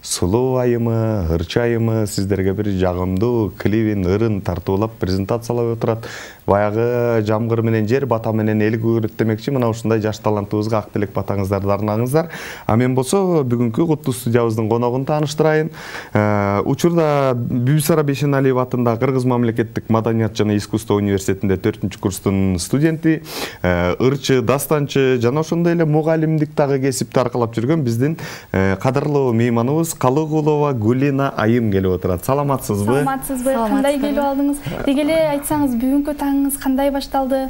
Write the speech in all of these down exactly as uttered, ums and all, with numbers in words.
Сулуу айымы, ырчы айымы сиздерге бир жагымдуу клибин ырын тартуулап презентациялап отурат. Баягы жамгыр менен жер, бата менен эл көрөттөмөкчү мына ушундай жаш талантыбызга ак тилек батаңыздарды арнаңыздар. А мен болсо бүгүнкү куттуу студиябыздын коногун тааныштырайын. Учурда Бибисара Бейшеналиева атындагы Кыргыз мамлекеттик маданият жана искусство университетинде төртүнчү курстун студенти, ырчы, дастанчы жана ошондой эле мугалимдик дагы кесипти аркалап жүргөн биздин кадырлуу мейманыбыз Калыгулова Гулина айым келип отурат. Саламатсызбы? Саламатсызбы? Кандай келип алдыңыз? Деги эле айтсаңыз, бүгүнкү таңыңыз кандай башталды?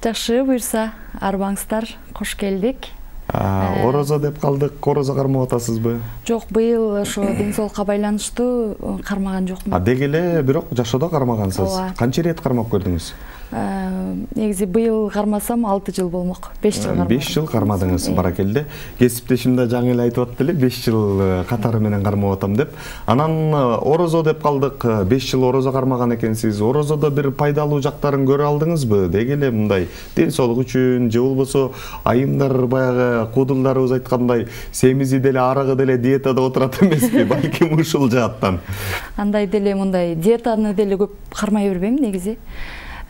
Жакшы, буйрса, арбаңыздар, кош келдик. Орозо деп калдык, орозо кармап атасызбы? Жок, быйыл ошо ден соолукка байланыштуу кармаган жокмун. А деги эле бирок жашоодо кармагансыз. Канча ирет кармап көрдүңүз? Негизи быйыл кармасам алты жыл болмок. беш жыл кармадым. беш жыл кармадыңыз, баракелде. Кесиптешим да жаңы эле айтып атты эле, беш жыл катары менен кармап атам деп. Анан орозо деп калдык, беш жыл орозо кармаган экенсиз. Орозодо бир пайдалуу жактарын көрө алдыңызбы? Деги эле мындай ден соолук үчүн, же болбосо айымдар баягы куудулдарыбыз айткандай, семизи деле арыгы деле диетада отурат эмеспи? Балким ушул жааттан. Андай деле мындай диетаны деле көп кармай бербейм негизи.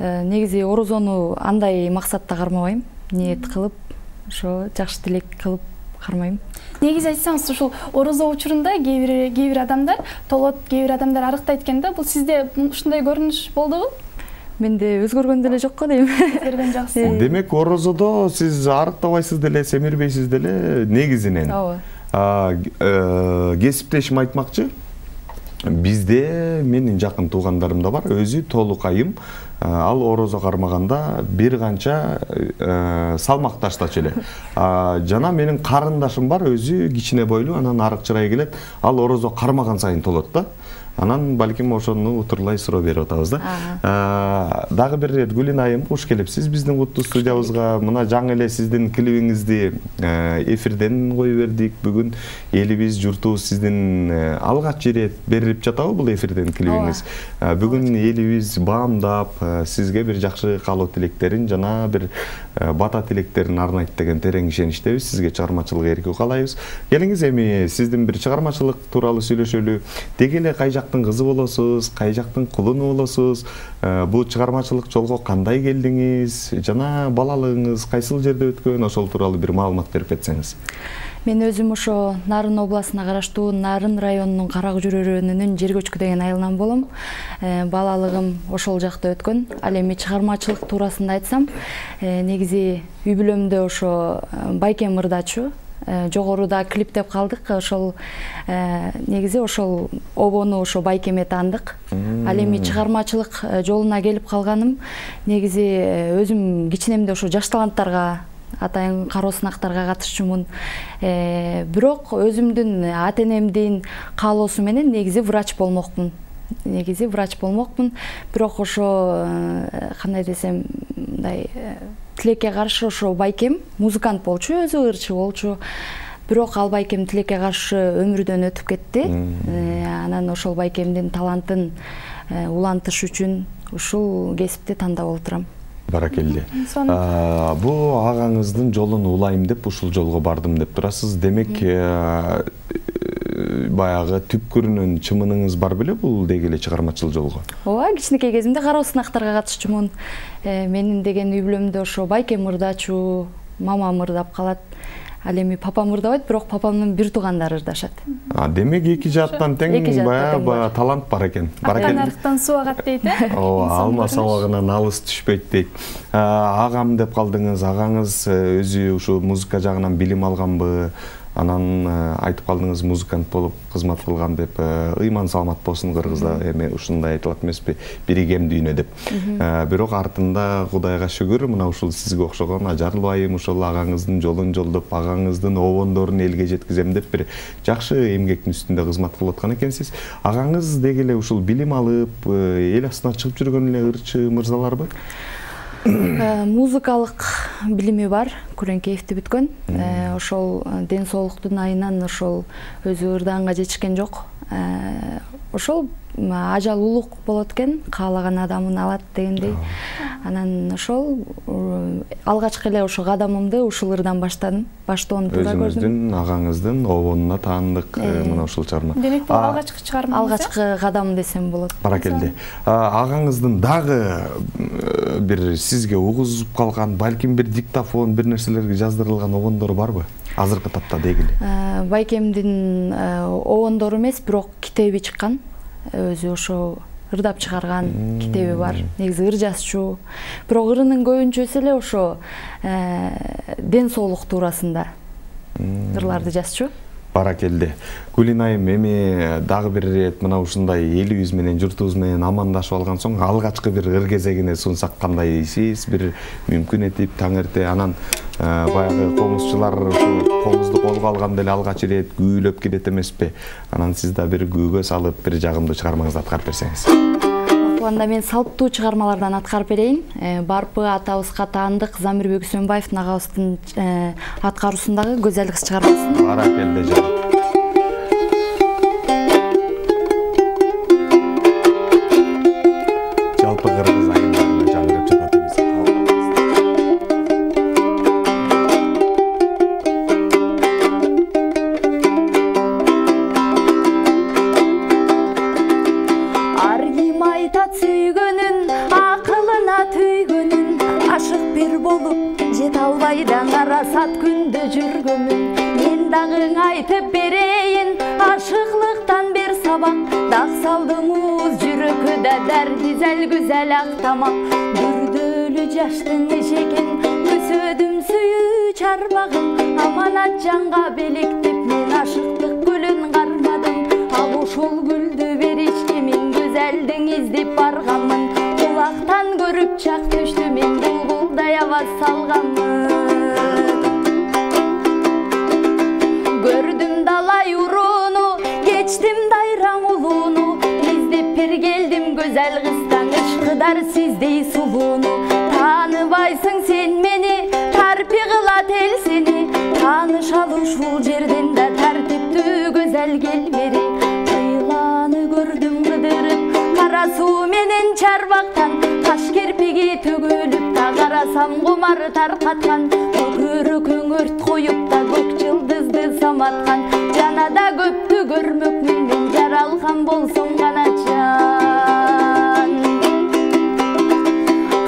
Негизи орозону андай максатта кармабайм, ниет кылып, ошо жакшы тилек кылып кармайм. Негизи айтсаңыз, ушул орозо учурунда кээ бир кээ бир адамдар толот, кээ бир адамдар арыктайт экен да. Бул сизде ушундай көрүнүш болдубу? Менде өзгөргөн деле жок го дейм. Өзгөргөн жакшы. Демек орозодо сиз арыктабайсыз деле, семирбейсиз деле негизинен. Ооба. Кесиптешим айтмакчы. Бизде менин жакын туугандарым да бар, өзү толук айым. Ал орозо кармаганда бир канча салмак таштачу эле. Жана менин карындашым бар, өзү кичине бойлуу, анан арык чырай келет. Ал орозо кармаган сайын толот да. Анан балким ошону утурлай суроо берип атабыз да. Дагы бир ирет Гулина айым, куш келипсиз биздин куттуу студиябызга. Мына жаңы эле сиздин клибиңизди эфирден кое бердик. Бүгүн элибиз, журтубуз сиздин алгач ирет берилип жатабы бул эфирден клибиңиз? Бүгүн элибиз баамдап, сизге бир жакшы каалоо тилектерин жана бир бата тилектерин арнайт деген терең ишеничтебиз. Сизге чыгармачылык эркин каалайбыз. Келиңиз эми сиздин бир чыгармачылык тууралуу сүйлөшөлү. Деги эле кай жактын кызы болосуз, кай жактын кулуну болосуз? Бул чыгармачылык жолго кандай келдиңиз? Жана балалыгыңыз кайсыл жерде өткөн? Ошол тууралуу бир маалымат берип кетсеңиз. Мен өзүм ошо Нарын областына караштуу Нарын районунун Карак жүрөрөнүнүн жер көчкү деген айылынан болом. Балалыгым ошол жакта өткөн. Ал эми чыгармачылык туурасында айтсам, негизи үй бүлөмдө ошо Байкем ырдачу, жогоруда клип деп калдык. Ошол негизи ошол обону ошо Байкемге таандык. Ал эми чыгармачылык жолуна келип калганым негизи өзүм кичинемде ошо жаш таланттарга, атайын кароо сынактарга катышчумун. Бирок өзүмдүн ата-энемдин каалоосу менен негизи врач болмокмун. Негизи врач болмокмун. Бирок ошо кандай десем, мындай тилекке каршы ошо Байкем музыкант болчу, өзү ырчы болчу. Бирок ал Байкем тилекке каршы өмүрдөн өтүп кетти. Анан ошол Байкемдин талантын улантыш үчүн ушул кесипти тандап олтурам. Баракелде. Бу агаңыздын жолун улайм деп ушул жолго бардым деп турасыз. Демек баягы түпкүрүнөн чымыныңыз бар беле бул деги эле чыгармачыл жолго? Ооба, кичинекей кезимде кароо сынактарга катышчумун. Менин деген үй бүлөмдө ошо Байкем ырдачу, мамам ырдап калат. Ал эми папам ырдабайт, бирок папамдын бир туугандары ырдашат. Демек эки жааттан тең баягы талант бар экен. Акан арыктан суу агат дейт, э? Ооба, алма сабагынан алыс түшпөйт дейт. Агам деп калдыңыз, агаңыз өзү ушу музыка жагынан билим алганбы? Анан айтып калдыңыз, музыкант болуп кызмат кылган деп. Ыйман саламат болсун, кыргызда эми ушундай айтылат эмеспи, биригем дүйнө деп. Бирок артында Кудайга шүгүр, мына ушул сизге окшогон ажарлуу айым ушул агаңыздын жолун жолдоп, агаңыздын обондорун элге жеткизем деп бир жакшы эмгектин үстүндө кызмат кылып аткан экенсиз. Агаңыз деги эле ушул билим алып, эл астына чыгып жүргөн эле ырчы мырзаларбы? Музыкалык билими бар, Күрөңкеевди бүткөн. Ошол ден соолуктун айынан ошол өзү ырдаганга жетишкен жок. ошол ажал улук болот экен, каалаган адамын алат дегендей. Анан ошол алгачкы эле ошо кадамымды ушул ырдан баштадым. Баштоону туура көрдүм. Өзүңүздүн агаңыздын обонуна таандык мына ушул чыгарма. Демек бул алгачкы чыгарма. Алгачкы кадам десем болот. Баракелде. Агаңыздын дагы бир сизге угузуп калган, балким бир диктофон, бир нерселерге жаздырылган обондору барбы? Азыркы тапта дегиле. Байкемдин обондору эмес, бирок китеби чыккан. Өзү ошо ырдап чыгарган китеби бар. Негизи ыр жазчу. Бирок ырынын көбүнчөсү эле ошо ден соолук туурасында ырларды жазчу. Баракелде. Гүлин айым, эми дагы бир ирет мына ушундай элибиз менен, журтубуз менен амандашып алган соң алгачкы бир ыр кезегине сунсак кандай дейсиз? Бир мүмкүн этип таң эрте анан баягы комузчулар ушу комузду колго алганда эле алгач ирет күүлөп келет эмеспи? Анан сиз да бир күүгө салып бир жагымдуу чыгармаңызды аткарып берсеңиз. Анда мен салыптуу чыгармалардан аткарып берейин. Барпы атабызга таандык Замирбек Үсөнбаевдин агабыздын аткаруусундагы Көзөл кыз чыгармасын. Баракелде жан. Жалпы кыргыз айымдарына жаңырып жатат эмес. Карасат күндө жүргөмүн, мен дагы айтып берейин, ашыклыктан бер сабак, дак салдым уз жүрөккө дәрди зәл güzel ак тамак, бүрдөлү жаштын эшегин, өсөдүм сүйүү чарбагым, аманат жанга белектеп мен ашыктык гүлүн кармадым, ал ошол гүлдү беришке мен Көзөлдүн издеп барганмын, кулактан көрүп чак төштү мен булбулдай аваз салганмын. Gördüm dalay uruğunu, geçtim dayran uluğunu, İzdep bir geldim güzel kızdan, ışkıdar sizdey suluğunu. Tanıbaysın sen beni, tarpi kılat el seni, tanışalım şul жерден de tertiptü güzel gel beri. Kıyılanı gördüm kıdırıp, kara su menen çarbaktan, taş kirpigi tөгөлүп da karasam kumar tarkatkan, körükün ört koyup da gök yıldızdı samatkan, canada köptü görmökmün men jaralgan bolsun kanaçan.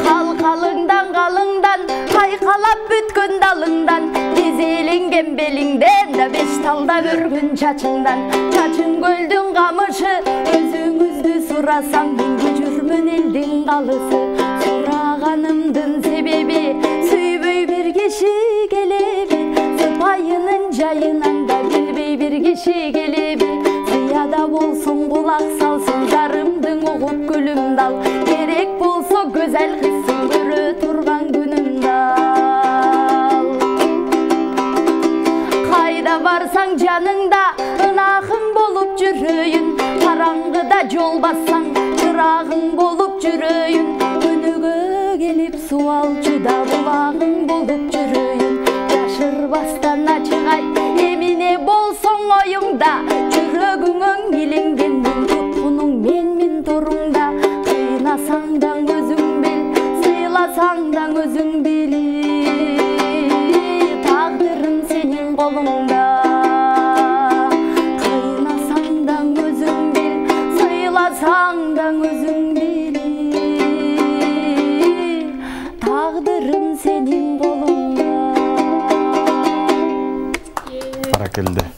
Kalkalыңдан kalыңdan, kaykalap bütkün dalыңdan, dizelengen belingden da beş talda börgün çaçыңdan, çaçın göldün kamışı, özüңүздү сурасам мен жүрмүн элдин калысы, сураганымдын себеби сүйбөй бир киши келеби, сыпайынын жайынан да билбей бир киши келеби, зыяда болсун кулак салсын жарымдын угуп күлүм дал, керек болсо Көзөл кызсын көрө турган күнүм дал. Кайда барсаң жаныңда ынакың болуп жүрөйүн, караңгыда жол бассаң чырагың болуп жүрөйүн, өнөгө келип суалчуда булагың болуп жүрөйүн, жашырбастан ачык айт эмине болсоң оюңда, жүрөгүңөн илингендин туткунуң менмин торуңда, кыйнасаң да өзүң бил, сыйласаң да өзүң били, тагдырым сенин колуңда. Кыйнасаң да өзүң бил, сыйласаң да өзүң били, тагдырым сенин колуңда. Баракелде.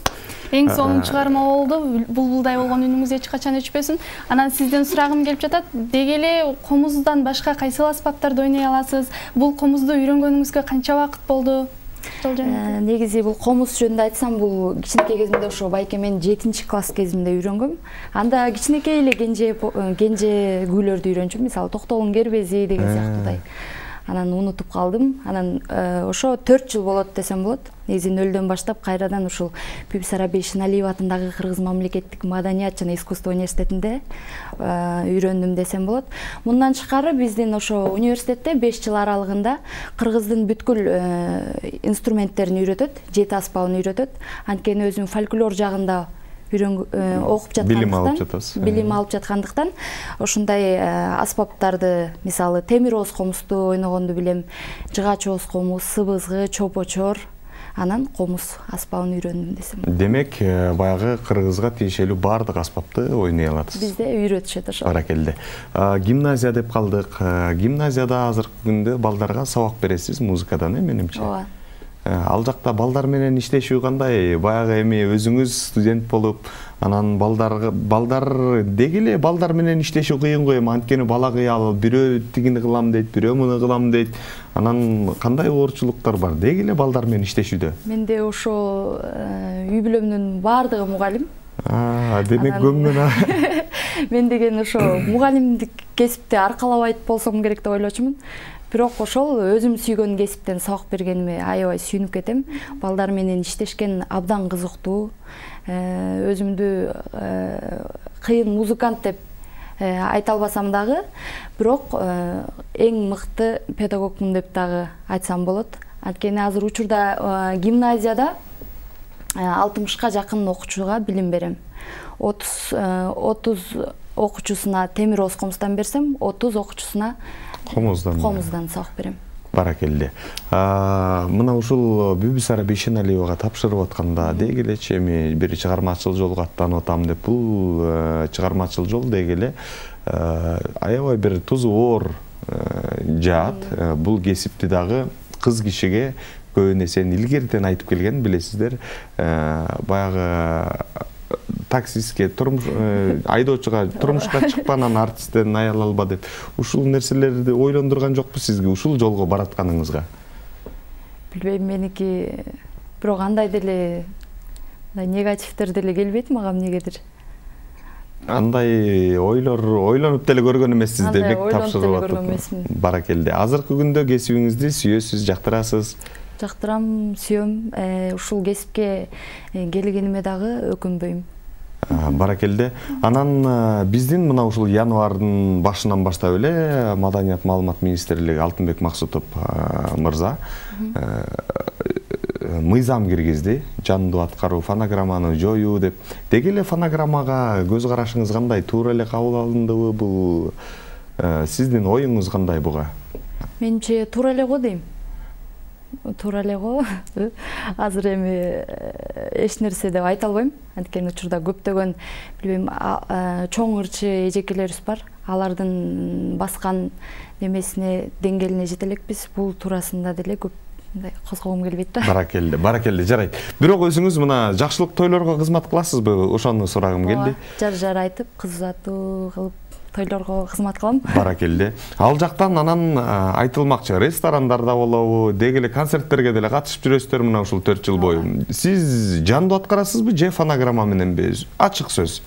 Эң сонун чыгарма болду. Булбулдай болгон үнүңүз эч качан өчпөсүн. Анан сизден сурагым келип жатат. Деги эле комуздан башка кайсыл аспаптарды ойной аласыз? Бул комузду үйрөнгөнүңүзгө канча убакыт болду? Негизи бул комуз жөнүндө айтсам, бул кичинекей кезимде ошо байкемен жетинчи класс кезимде үйрөнгөм. Анда кичинекей эле кенже кенже күүлөрдү үйрөнчүм. Мисалы Токтогулдун кербези деген сыяктуудай. Анан унутуп калдым. Анан ошо төрт жыл болот десем болот. Негизи нөлдөн баштап кайрадан ушул Бибисара Бейшеналиева атындагы Кыргыз мамлекеттик маданият жана искусство университетинде үйрөндүм десем болот. Мындан тышкары биздин ошо университетте беш жыл аралыгында кыргыздын бүткүл инструменттерин үйрөтөт, жети аспабын үйрөтөт. Анткени өзүм фольклор жагында окуп жаткандыктан, билим алып жатасыз. Билим алып жаткандыктан ушундай аспаптарды, мисалы темир оз комузду ойногонду билем, жыгач оз комуз, сыбызгы, чопочор, анан комуз аспабын үйрөндүм десем. Демек, баягы кыргызга тиешелүү баардык аспапты ойной аласыз. Бизде үйрөтүшөт ошол. Баракелде. Гимназия деп калдык. Гимназияда азыркы күндө балдарга сабак бересиз музыкадан, э, менимче. Ооба. Ал жакта балдар менен иштешүү кандай? Баягы эми өзүңүз студент болуп, анан балдарга балдар деги эле балдар менен иштешүү кыйын го эми, анткени бала кыял, бирөө тигини кылам дейт, бирөө муну кылам дейт. Анан кандай оорчулуктар бар деги эле балдар менен иштешүүдө? Менде ошо үй бүлөмдүн баардыгы мугалим. А, демек көңүлүн. Мен деген ошо мугалимдик кесипти аркалабайт болсом керек деп ойлочумун. Бирок ошол өзүм сүйгөн кесиптен сабак бергениме аябай сүйүнүп кетем. Балдар менен иштешкен абдан кызыктуу. Өзүмдү кыйын музыкант деп айта албасам дагы, бирок эң мыкты педагогмун деп дагы айтсам болот. Анткени азыр учурда гимназияда алтымышка жакын окуучуга билим берем. отуз окуучусуна темир оз комуздан берсем, отуз окуучусуна комуздан комуздан сабак берем. Баракелде. Мына ушул Бүбүсара Бейшеналиевага тапшырып атканда деги элечи эми бир чыгармачыл жолго аттанып атам деп, бул чыгармачыл жол деги эле аябай бир тузу оор жаат. Бул кесипти дагы кыз кишиге көбүн эсен илгертен айтып келген, билесиздер. Баягы таксистке, турмуш айдоочуга турмушка чыкпа, анан артисттен аял алба деп. Ушул нерселерди ойлондурган жокпу сизге ушул жолго баратканыңызга? Билбейм, меники бирок андай деле негативдер деле келбейт мага эмнегедир. Андай ойлор ойлонуп деле көргөн эмессиз, демек тапшырып атат. Баракелде. Азыркы күндө кесибиңизди сүйөсүз, жактырасыз? Жактырам, сүйөм. Ушул кесипке келгениме дагы өкүнбөйм. Баракелде. Анан биздин мына ушул январдын башынан баштап эле Маданият маалымат министрлиги Алтынбек Максутов мырза мыйзам киргизди. Жандуу аткаруу, фонограмманы жоюу деп. Деги эле фонограммага көз карашыңыз кандай? Туура эле кабыл алындыбы? Бул сиздин оюңуз кандай буга? Менче туура эле го дейм. Туура эле го. Азыр эми эч нерсе деп айта албайм. Анткени учурда көптөгөн, билбейм, чоң ырчы эжекелерибиз бар. Алардын баскан немесине, деңгээлине жете элекпиз. Бул туурасында деле көп козгогум келбейт да. Баракелде, баракелде, жарайт. Бирок өзүңүз мына жакшылык тойлорго кызмат кыласызбы? Ошону сурагым келди. Жар жар айтып, кыз uzatуу кылып тойлорго кызмат кылам. Баракелде. Ал жактан анан айтылмакчы, ресторандарда болобу, деги эле концерттерге деле катышып жүрөсүздөр мына ушул төрт жыл бою. Сиз жандуу аткарасызбы же фонограмма мененби? Ачык сөз.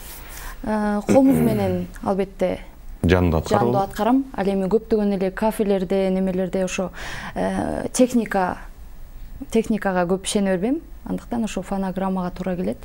Комуз менен албетте жандуу аткарам. Жандуу аткарам. Ал эми көптөгөн эле кафелерде, немелерде ошо техника техникага көп ишене бербейм. Андыктан ошо фонограммага туура келет.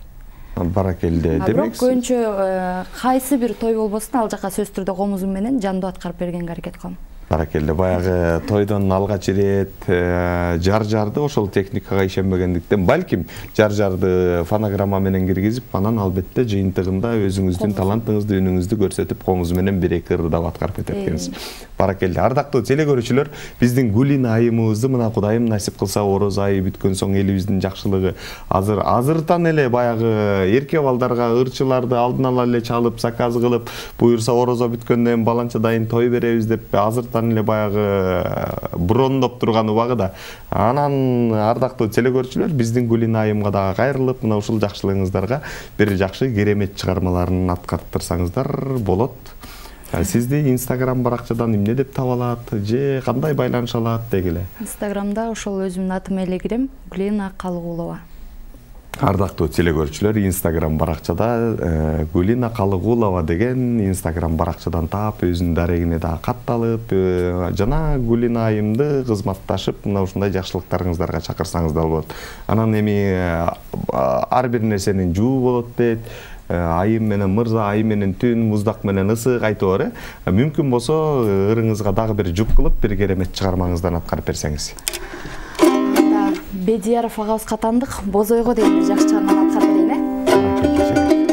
Баракелде. Демек, көбүнчө кайсы бир той болбосун, ал жака сөзсүз түрдө комузум менен жандуу аткарып бергенге аракет кылам. Баракелде. Баягы тойдон алгач ирет жар-жарды ошол техникага ишенбегендиктен, балким жар-жарды фонограмма менен киргизип, анан албетте жыйынтыгында өзүңүздүн талантыңызды, үнүңүздү көрсөтүп, комуз менен бир-эки ырдап аткарып кетет экенсиз. Баракелде. Ардактуу теле көрүүчүлөр, биздин Гулина айымыбызды мына Кудайым насип кылса ороз айы бүткөн соң элибиздин жакшылыгы азыр азыртан эле баягы эрке балдарга ырчыларды алдын ала эле чалып, заказ кылып, буюрса орозо бүткөндөн баланча дайын той беребиз деп азыртан эле баягы брондоп турган убагыда. Анан ардактуу теле көрүүчүлөр, биздин Гулина айымга дагы кайрылып, мына ушул жакшылыгыңыздарга бир жакшы керемет чыгармаларын аткарттырсаңыздар болот. Сизди Инстаграм баракчадан эмне деп таба алат же кандай байланыша алат деги эле? Инстаграмда ошол өзүмдүн атым эле кирем, Гулина Калыгулова. Ардактуу теле көрүүчүлөр, Инстаграм баракчада Гулина Калыгулова деген Инстаграм баракчадан таап, өзүнүн дарегине дагы катталып, жана Гулина айымды кызматташып, мына ушундай жакшылыктарыңыздарга чакырсаңыздар болот. Анан эми ар бир нерсенин жуу болот дейт. Айым менен мырза, айым менен түн, муздак менен ысык айтор, э? Мүмкүн болсо ырыңызга дагы бир жуп кылып, бир керемет чыгармаңыздан аткарып берсеңиз. Бедияров агабызга тандык, Бозойго деген бир жакшы чыгарманы аткарып берейин, э?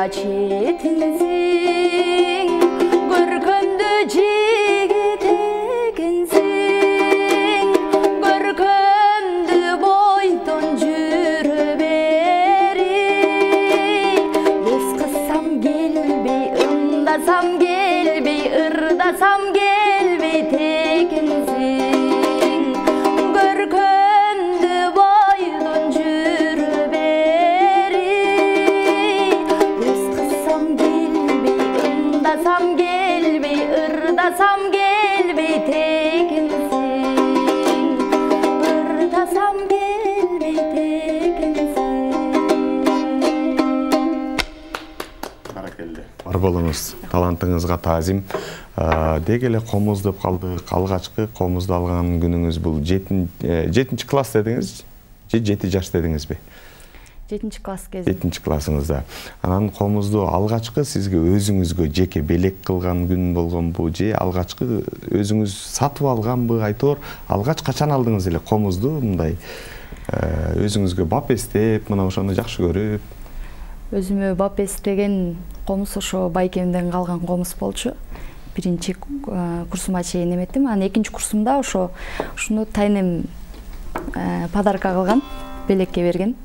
четинсиң, көркөмдү жигит экенсиң, көркөмдү бойдон жүрө бери, эс кылсам келбей, ымдасам келбей, ырдасам келбей текенсиң, көркөмдү бойдон жүрө бери, эс кылсам келбей, ымдасам келбей, ырдасам келбей текенсиң, ырдасам келбей текенсиң. Баракелде. Бар болуңуз, талантыңызга таазим. Деги эле комуз деп калдык. Алгачкы комузду алган күнүңүз бул жетинчи класс дедиңиз же жети жаш дедиңизби? жетинчи класс кези. жетинчи классыңызда. Анан комузду алгачкы сизге өзүңүзгө жеке белек кылган күн болгонбу же алгачкы өзүңүз сатып алганбы? Айтор, алгач качан алдыңыз эле комузду мындай өзүңүзгө бап эстеп, мына ошону жакшы көрүп? Өзүмө бап эстеген комуз ошо байкемден калган комуз болчу. Биринчи курсума чейин эметтим. Анан экинчи курсумда ошо ушуну тайнем подарка кылган, белекке берген.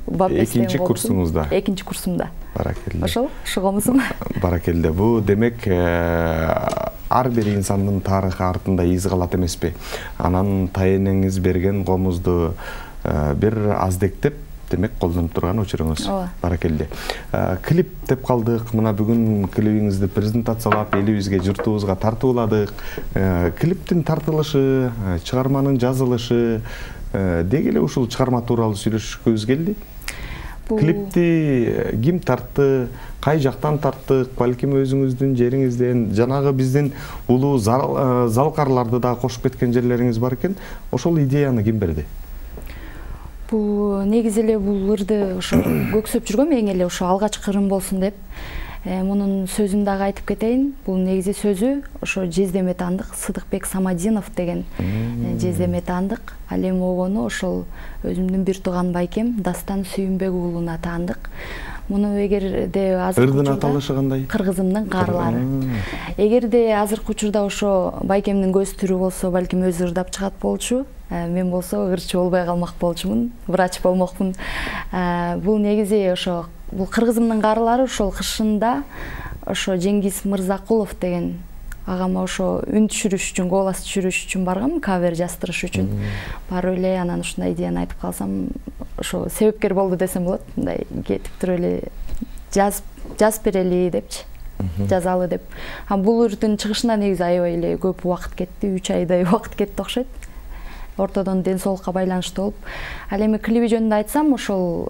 Экинчи курсуңузда? Экинчи курсумда. Баракелде. Ошол, ошо комузум. Баракелде. Бу демек ар бир инсандын тарыхы артында из калат эмеспи? Анан тайнеңиз берген комузду бир аздектеп демек колдонуп турган учуруңуз. Баракелде. Клип деп калдык. Мына бүгүн клибиңизди презентациялап, элибизге, журтубузга тартууладык. Клиптин тартылышы, чыгарманын жазылышы, деги эле ушул чыгарма тууралуу сүйлөшкүбүз келди. Клипти ким тартты, кай жактан тарттык, балким өзүңүздүн жериңизден, жанагы биздин улуу залкарларды да кошуп кеткен жерлериңиз бар экен. Ошол идеяны ким берди? Бул негизи эле бул ырды ошо көксөп жүргөм, эң эле ошо алгачкы ырым болсун деп. Мунун сөзүн дагы айтып кетейин. Бул негизи сөзү ошо Жездеме Таандык Сыдыкбек Самадинов деген Жездеме Таандык. Ал эми огону ошол өзүмдүн бир тууган байкем Дастан Сүйүнбек уулуна таандык. Муну эгерде азыркы ырдын аталышы кандай? Кыргызымдын каарлары. Эгерде азыркы учурда ошо байкемдин көз түрү болсо, балким өзү ырдап чыгат болчу. Мен болсо ырчы болбой калмак болчумун, врач болмокмун. Бул негизи ошо бул кыргызымдын каарлары ошол кышында ошо Жеңгиз Мырзакулов деген агама ошо үн түшүрүш үчүн, голос түшүрүш үчүн баргам, кавер жаздырыш үчүн. Барып эле анан ушундай идеяны айтып калсам, ошо себепкер болду десем болот. Мындай кетип туруп эле жазып жазып берели депчи. Жазалы деп. А бул ырдын чыгышына негизи аябай эле көп убакыт кетти, үч айдай убакыт кетти окшойт. Ортодон ден соолукка байланыштуу болуп. Ал эми клиби жөнүндө айтсам, ошол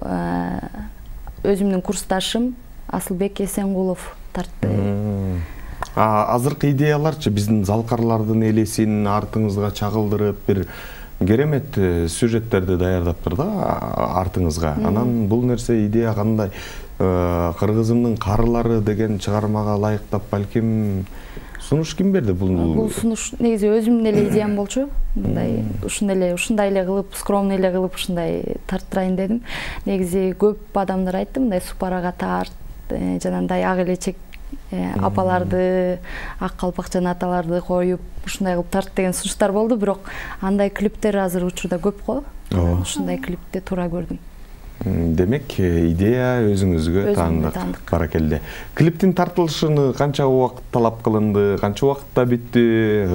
өзүмдүн курсташым Асылбек Эсенгулов тартты. Азыркы идеяларчы биздин залкарлардын элесин артыңызга чагылдырып, бир керемет сюжеттерди даярдаптыр да артыңызга. Анан бул нерсе идея кандай? Кыргызымдын каарлары деген чыгармага ылайыктап балким сунуш ким берди бул? Бул сунуш негизи өзүмдүн эле идеям болчу. Мындай ушундай эле, ушундай эле кылып, скромный эле кылып ушундай тарттырайын дедим. Негизи көп адамдар айтты, мындай супарага тарт, жанагындай ак элечек апаларды, ак калпакчан аталарды коюп, ушундай кылып тарт деген сунуштар болду, бирок андай клиптер азыр учурда көп го. Ушундай клипти туура көрдүм. Демек, идея өзүңүзгө таандык. Баракелде. Клиптин тартылышыны канча убакыт талап кылынды, канча убакытта бүттү?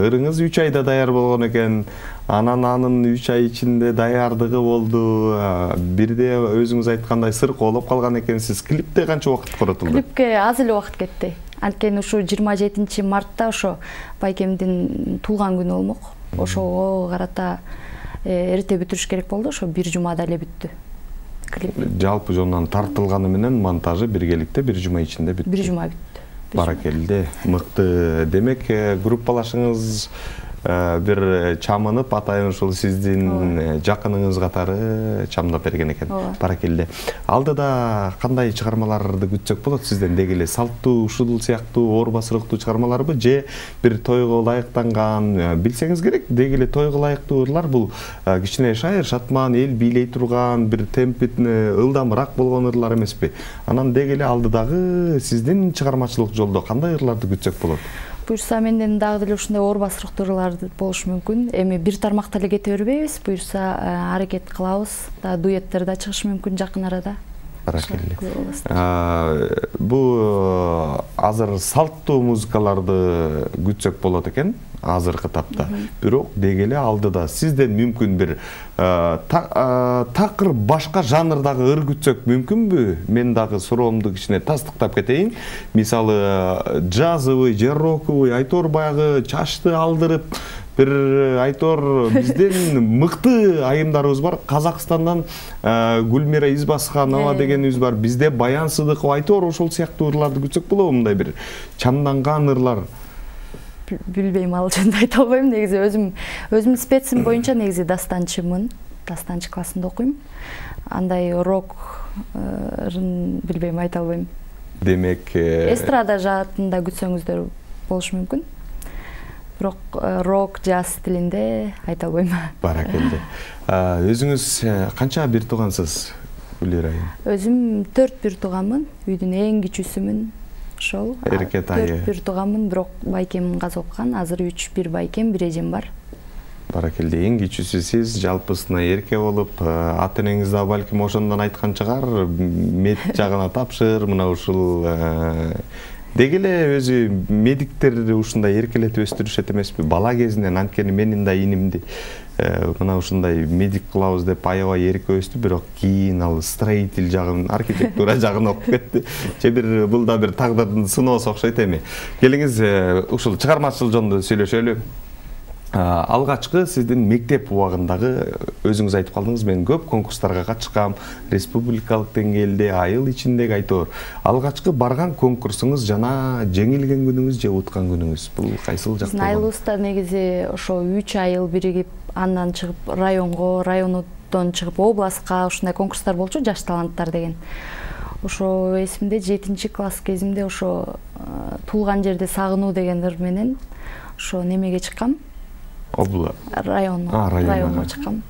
Ырыңыз үч айда даяр болгон экен. Анан анын үч ай ичинде даярдыгы болду. Бирде өзүңүз айткандай сыр колоп калган экенсиз. Клипте канча убакыт коротулду? Клипке аз эле убакыт кетти. Анткени ушу жыйырма жетинчи мартта ошо байкемдин туулган күнү болмок. Ошого карата эрте бүтүрүш керек болду. Ошо бир жумада эле бүттү. Жалпы жонунан тартылганы менен монтажы биргеликте бир жума ичинде бүттү. Бир жума бүттү. Баракелде, мыкты. Демек, группалашыңыз бир чамынып, атайын ушул сиздин жакыныңыз катары чамдап берген экен. Баракелде. Алдыда кандай чыгармаларды күтсөк болот сизден? Деги эле салттуу, ушул сыяктуу оор басырыктуу чыгармаларбы же бир тойго ылайыктанган? Билсеңиз керек, деги эле тойго ылайыктуулар бул кичине шайыр, шатман, эл бийлей турган, бир темпи ылдамыраак болгон ырлар эмеспи? Анан деги эле алдыдагы сиздин чыгармачылык жолдо кандай ырларды күтсөк болот? Буюрса менден дагы деле ушундай оор басырыктуу ырлар болушу мүмкүн. Эми бир тармакта эле кете бербейбиз. Буюрса аракет кылабыз. Да дуэттер да чыгышы мүмкүн жакын арада. Баракелде. Бул азыр салттуу музыкаларды күтсөк болот экен азыркы тапта. Бирок деги эле алдыда сизден мүмкүн бир такыр башка жанрдагы ыр күтсөк мүмкүнбү? Мен дагы суроомду кичине тастыктап кетейин. Мисалы джазовый же роковый, айтор баягы чачты алдырып бир айтор бизден мыкты айымдарыбыз бар. Казакстандан Гүлмира Избасханова дегенибиз бар. Бизде Баян Сыдыкова айтор ошол сыяктуу ырларды күтсөк болобу? Мындай бир чамданган ырлар. Билбейм, ал жөнүндө айта албайм. Негизи өзүм өзүм специм боюнча негизи дастанчымын. Дастанчы классында окуйм. Андай рок ырын билбейм, айта албайм. Демек, эстрада жаатында күтсөңүздөр болушу мүмкүн. Бирок рок, джаз тилинде айта албайм. Баракелде. Өзүңүз канча бир туугансыз, Гүлира айым? Өзүм төрт бир тууганмын. Үйдүн эң кичүүсүмүн. Ошол. Эркет айы. төрт бир тууганмын, бирок байкем каза оккан. Азыр үч бир байкем, бир эжем бар. Баракелде, эң кичүүсү сиз, жалпысына эрке болуп, ата энеңиз да балким ошондон айткан чыгар, мед жагына тапшыр, мына ушул деги эле өзү медиктер ушундай эркелетип өстүрүшөт эмеспи? Бала кезинен, анткени менин да инимди мына ушундай медик кылабыз деп аябай эрке өстү, бирок кийин ал строитель жагын, архитектура жагын окуп кетти. Же бир бул да бир тагдырдын сыноосу окшойт эми. Келиңиз ушул чыгармачылык жөнүндө сүйлөшөлү. Алгачкы сиздин мектеп убагындагы, өзүңүз айтып калдыңыз, мен көп конкурстарга катышкам, республикалык деңгээлде, айыл ичиндеги айтор. Алгачкы барган конкурсуңуз жана жеңилген күнүңүз же уткан күнүңүз бул кайсыл жак? Биздин айылыбызда негизи ошо үч айыл биригип, андан чыгып районго, райондон чыгып областка ушундай конкурстар болчу, жаш таланттар деген. Ошо эсимде жетинчи класс кезимде ошо туулган жерде сагынуу деген ыр менен ошо немеге чыккам. Обла. Район. Районго чыккам.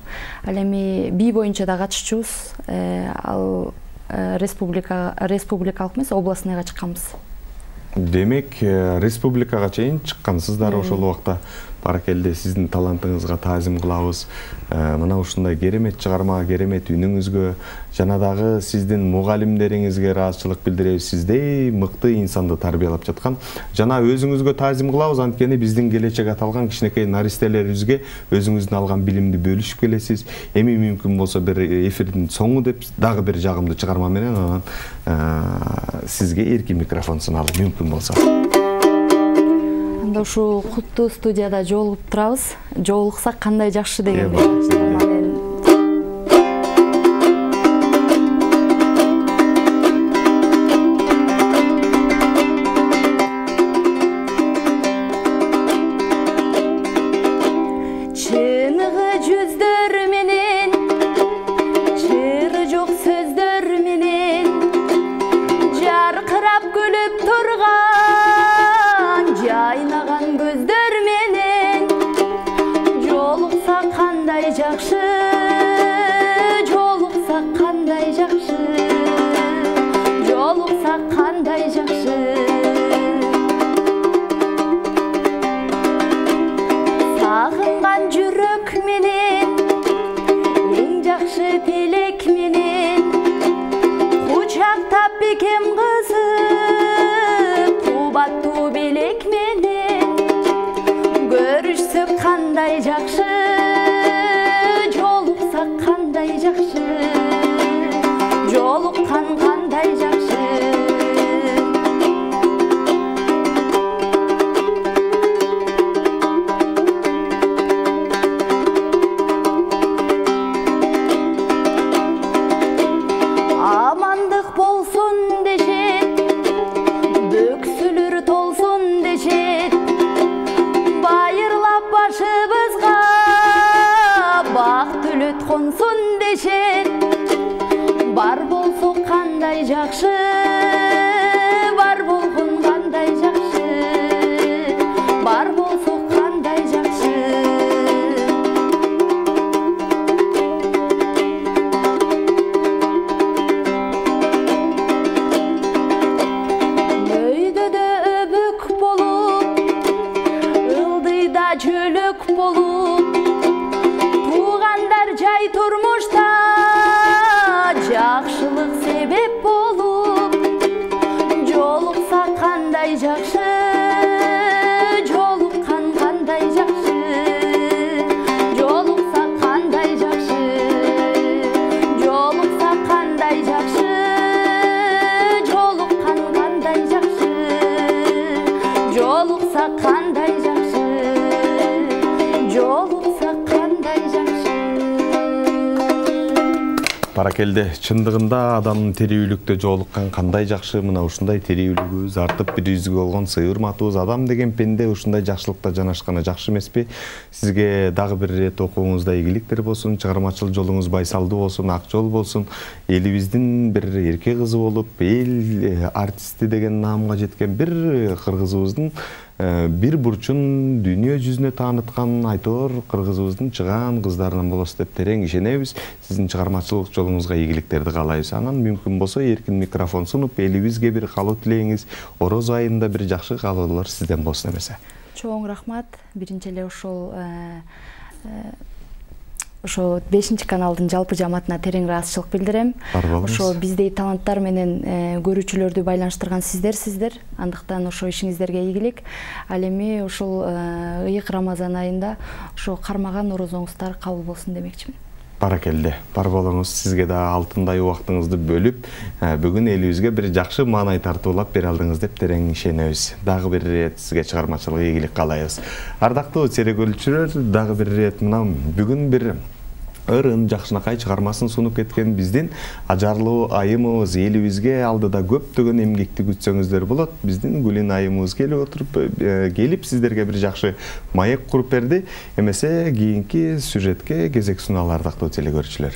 Ал эми би боюнча да катышчубуз. Ал республика республикалык эмес, областныйга чыкканбыз. Демек, республикага чейин чыккансыздар ошол убакта. Баракелде, сиздин талантыңызга таазим кылабыз. Мына ушундай керемет чыгарма, керемет үнүңүзгө жана дагы сиздин мугалимдериңизге ыраазычылык билдиребиз. Сиздей мыкты инсанды тарбиялап жаткан. Жана өзүңүзгө таазим кылабыз, анткени биздин келечек аталган кичинекей наристелерибизге өзүңүздүн алган билимди бөлүшүп келесиз. Эми мүмкүн болсо бир эфирдин соңу деп дагы бир жагымдуу чыгарма менен анан сизге эркин микрофон суналып мүмкүн болсо. Ушул куттуу студияда жолугуп турабыз. Жолуксак кандай жакшы деген. Чыныгы жүздөр менен, чыры жок сөздөр менен, жаркырап күлүп турган жайнаган көздөр менен, жолукса кандай жакшы, жолукса кандай жакшы, жолукса кандай жакшы. Сагынган жүрөк менен, эң жакшы тилек менен, кучактап бекем кызып, кубаттуу белек менен, көрүшсөк кандай жакшы, жолуксак кандай жакшы, жолуккан кандай жакшы. жакшы, бар болгон кандай жакшы, бар болсо кандай жакшы. Өйдөдө өбүк болуп, ылдыйда чөлөк болуп, туугандар жай турмушта жакшылык себеп болуп, жолукса кандай жакшы, жолуккан кандай жакшы, жолукса кандай жакшы, жолукса кандай жакшы, жолуккан кандай жакшы, жолукса кандай жакшы, жолукса кандай жакшы. Баракелде, чындыгында адамдын тирүүлүктө жолуккан кандай жакшы, мына ушундай тирүүлүгүбүз артып бирибизге болгон сыйырматыбыз, адам деген пенде ушундай жакшылыкта жанашканы жакшы эмеспи? Сизге дагы бир ирет окууңузда ийгиликтер болсун, чыгармачыл жолуңуз байсалдуу болсун, ак жол болсун. Элибиздин бир эрке кызы болуп, эл артисти деген наамга жеткен бир кыргызыбыздын бир бурчун дүйнө жүзүнө тааныткан айтор кыргызыбыздын чыгаан кыздарынан болосуз деп терең ишенебиз. Сиздин чыгармачылык жолуңузга ийгиликтерди каалайбыз. Анан мүмкүн болсо эркин микрофон сунуп, элибизге бир каалоо тилейиңиз, Ороз айында бир жакшы каалоолор сизден болсун эмесе. Чоң рахмат. Биринчи эле ошол ошо бешинчи каналдын жалпы жамаатына терең ыраазычылык билдирем. Ошо биздей таланттар менен көрүүчүлөрдү байланыштырган сиздерсиздер. Андыктан ошо ишиңиздерге ийгилик. Ал эми ушул ыйык Рамазан айында ошо кармаган орозоңуздар кабыл болсун демекчимин. Баракелде, бар болуңуз. Сизге да алтындай убактыңызды бөлүп, бүгүн элибизге бир жакшы маанай тартуулап бере алдыңыз деп терең ишенебиз. Дагы бир ирет сизге чыгармачылык ийгилик каалайбыз. Ардактуу серегөлчүлөр, дагы бир ирет мына бүгүн бир ырын жакшынакай чыгармасын сунуп кеткен биздин ажарлуу айымыбыз элибизге алдыда көптөгөн эмгекти күтсөңүздөр болот. Биздин Гүлин айымыбыз келип отуруп, келип сиздерге бир жакшы маек куруп берди. Эмесе кийинки сюжетке кезек суналар, ардактуу телекөрүүчүлөр.